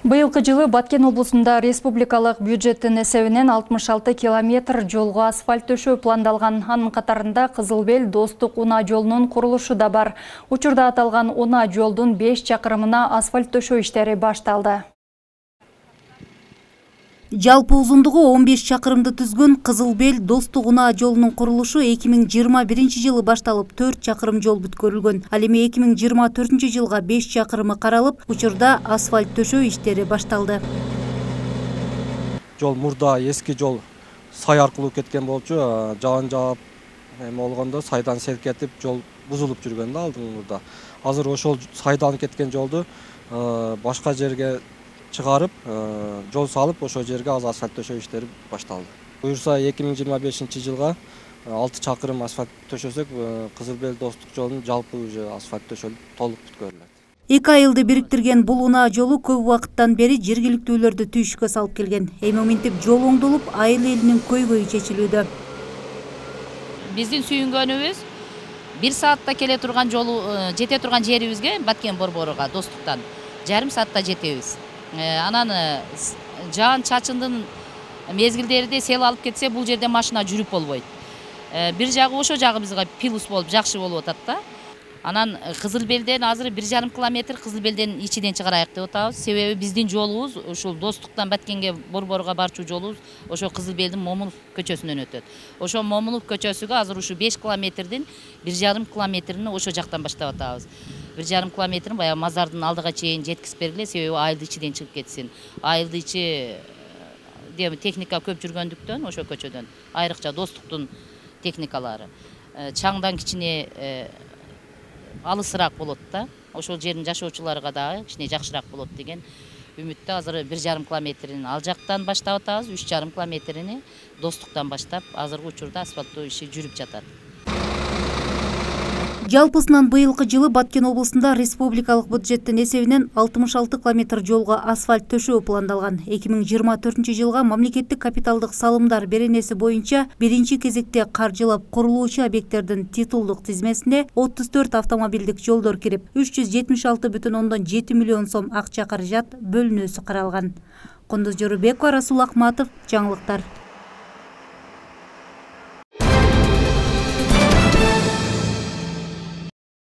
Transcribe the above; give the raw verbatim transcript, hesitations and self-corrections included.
Быйылкы жылы Баткен облусунда республикалык бюджеттин эсебинен алтымыш алты километр жолго асфальт төшөө пландалган. Анын катарында Кызылбел Достук унаа жолунун курулушу да бар. Учурда аталган унаа жолдун беш чакырымына асфальт төшөө иштери башталды. Жалпы узундугу он беш чакырымды түзгөн Кызылбел Достук унаа жолунун курулушу эки миң жыйырма биринчи жылы башталып, төрт чакырым жол бүткөрүлгөн. Ал эми эки миң жыйырма төртүнчү жылга беш чакырымы каралып, учурда асфальт төшөө иштери башталды. Жол мурда эски жол сай аркылуу кеткен болчу, жаан жаап эме болгондо сайдан селкетип жол бузулуп жүргөн да алдыңда. Азыр ошол сайдан кеткен жолду башка жерге чыгарып, жол салып, ошол жерге азыр асфальт төшөө иштери башталды. Буюрса эки миң жыйырма бешинчи жылга алты чакырым асфальт төшөсөк, Кызылбел Достук жолунун жалпы уже асфальт төшөлүп толук бүткөрүлөт. Эки айылды бириктирген бул унаа жолу көп убакыттан бери жергиликтүүлөрдү түйүшкө салып келген. Эми мынтип жол оңдолуп, айыл элинин көйгөйү чечилүүдө. Биздин сүйүнгөнүбүз бир саатта келе турган жолу жете турган жерибизге Баткен Борборуга Достуктан жарым саатта жетебиз. Анан жаан чачындын мезгилдеринде сел алып кетсе, бул жерде машина жүрүп болбойт. Бир жагы ошо жагы бизге плюс болуп, жакшы болуп атат да. Анан Кызылбелден азыр бир жарым километр Кызылбелден ичиден чыгарайык деп атабыз. Себеби биздин жолубуз ушул Достуктан Баткенге Борборуга барчу жолубуз ошо Кызылбелдин Момунов көчөсүнөн өтөт. Ошо Момунов көчөсүгө азыр ушу беш километрдин бир жарым километрин ошо жактан баштап атабыз. бир жарым километрин баягы мазардын алдыга чейин жеткизип бергиле, себеби айылды ичиден чыгып кетсин. Айылды ичи техника көп жүргөндүктөн ошо көчөдөн, айрыкча Достуктун техникалары чаңдан кичине алысыраак болот да. Ошол жердин жашоочуларга дагы кичине жакшыраак болот деген үмүттө азыр бир жарым километрин ал жактан баштап атабыз, үч жарым километрини Достуктан баштап азыркы учурда асфальттоо иши жүрүп жатат. Жалпысынан быйылкы жылы Баткен облусунда республикалык бюджеттин эсебинен алтымыш алты километр жолго асфальт төшөө пландалган. эки миң жыйырма төртүнчү жылга мамлекеттик капиталдык салымдар беренеси боюнча биринчи кезекте каржылап курулуучу объекттердин титулдук тизмесине отуз төрт автомобилдик жолдор кирип, үч жүз жетимиш алты бүтүн ондон жети миллион сом акча каражат бөлүнүүсү каралган. Кундуз Жорубекова, Расул Акматов, жаңылыктар.